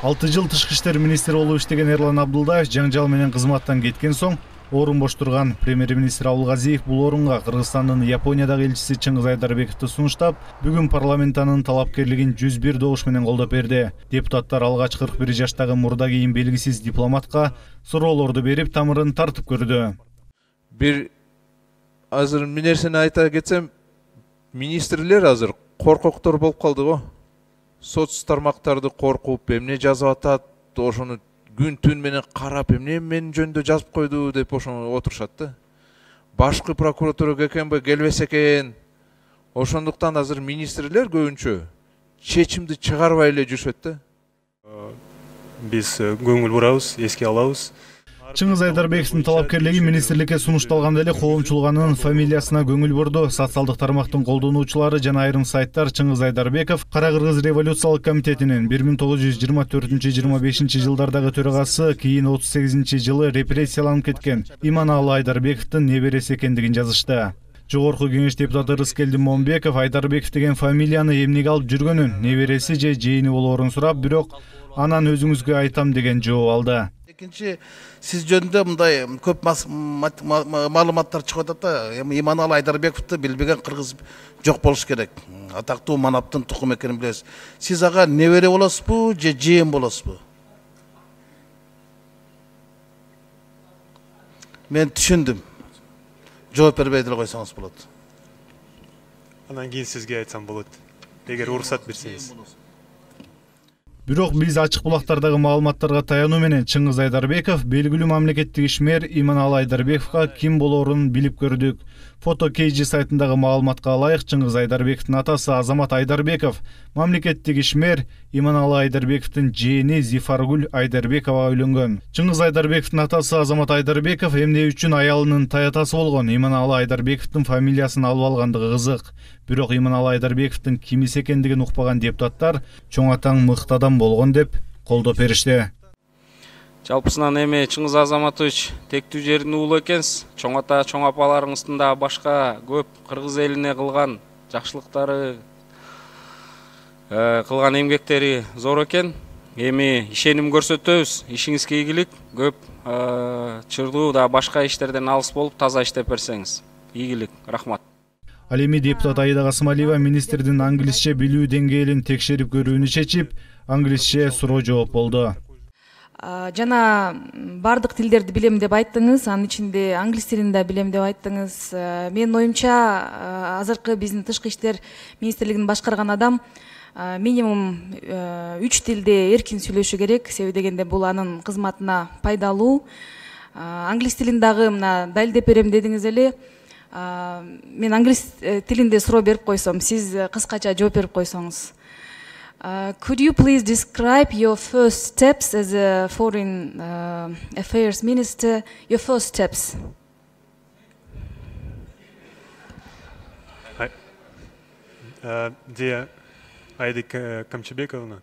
6 жыл тышкы иштер министри болуп иштеген Эрлан Абдулдаев жаңжал менен кызматтан кеткен соң орун бош турган премьер-министр Абылгазиев бул орунга Кыргызстандын Япониядагы элчиси Чыңгыз Айдарбековду сунуштап, бүгүн парламент анын талапкерлигин 101 добуш менен колдоп берди. Депутаттар алгач 41 жаштагы мурда кийин белгисиз дипломатка суроолорду берип, тамырын тартып көрдү. Бир азыр bir нерсени айта кетсем, министрлер азыр коркоктор болуп калды го. Соц тармактарды коркуп, эмне жазып атат, ошону күн түн менен карап, эмне мен жөнүндө жазып койду деп ошону отурушат да. Башкы прокуратурага келбей келбесе экен. Ошондуктан азыр министрлер көбүнчө чечимди чыгарбай эле жүрүшөт да. Биз көңүл бурабыз, эске алабыз. Чыңгыз Айдарбековдун талапкерлиги министрликке сунушталганда эле коомчулук фамилиясына көңүл бурду. Социалдык тармактын колдонуучулары жана айрым сайттар Чыңгыз Айдарбеков Кара Кыргыз революциялык комитетинин 1924-25 жылдардагы төрагасы, кийин 38-жылы репрессияланып кеткен Иманалы Айдарбековдун небереси экендигин жазышты. Жогорку кеңеш депутаты Рыскелди Момбеков Айдарбеков деген фамилияны эмнеге алып жүргөнүн, небереси же жээни болоорун сурап, бирок анан өзүңүзгө айтам деген жооп алды. Экинчи, сиз жөнүндө мындай көп маалыматтар чыгып атат да. Иманалы Айдарбековду билбеген кыргыз жок болуш керек. Атактуу манаптын тукум экенин билебиз. Сиз ага небере болосузбу же жээн болосузбу? Мен түшүндүм. Жооп бербей деле койсоңуз болот. Анан кийин сизге айтсам болот. Эгер уруксат берсеңиз. Бирок биз ачык булактардагы маалыматтарга таянуу менен Чыңгыз Айдарбеков белгилүү мамлекеттик ишмер Иманалы Айдарбековго ким болоорун билип көрдүк. Фото KG сайтындагы маалыматка ылайык, Чыңгыз Айдарбековдун атасы Азамат Айдарбеков мамлекеттик ишмер Иманалы Айдарбековдун жээни Зифаргүл Айдарбековага үйлөнгөн. Чыңгыз Айдарбековдун атасы Азамат Айдарбеков эмне үчүн аялынын таятасы болгон Иманалы Айдарбековдун фамилиясын алып алгандыгы кызык. Бирок Иманалы Айдарбековдун кимиси экендигин укпаган депутаттар чоң атаң мыкты адам болгон деп колдоп беришти. Жалпысынан эми Чыңгыз Азаматович тектүү жерин уулу экенсиз. Чоң ата, чоң апаларыңыздын да башка көп кыргыз элине кылган жакшылыктары, кылган эмгектери зор экен. Эми ишеним көрсөтөбүз. Ишиңизге ийгилик, көп чырдуу да башка иштерден алыс болуп таза иштеп берсеңиз. Ийгилик, рахмат. Ал эми депутат Аида Касымалиева министрдин англисче билүү деңгээлин текшерип көрүүнү чечип, англисче суроо жооп болду. Жана бардык тилдерди билем деп айттыңыз, анын ичинде англис тилин да билем деп айттыңыз. Менин оюмча, азыркы биздин тышкы иштер министрлигин башкарган адам минимум 3 тилде эркин сүйлөшү керек, себеби дегенде бул анын кызматына пайдалуу. Англис тилин дагы мына далилдеп берем дедиңиз эле. Мен англис тилинде суроо берип койсом, сиз кыскача жооп берип койсоңуз. Could you please describe your first steps as a foreign affairs minister? Your first steps. Dear Айда Камчыбековна.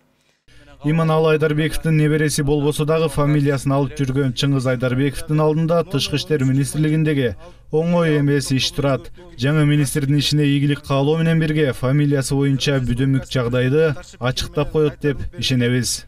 Иманалы Айдарбековдун небереси болбосо дагы фамилиясын алып жүргөн Чыңгыз Айдарбековдун алдында тышкы иштер министрлигиндеги оңой эмес иш турат. Жаңы министрдин ишине ийгилик каалоо менен бирге фамилиясы боюнча бүдөмүк жагдайды ачыктап коет деп ишенебиз.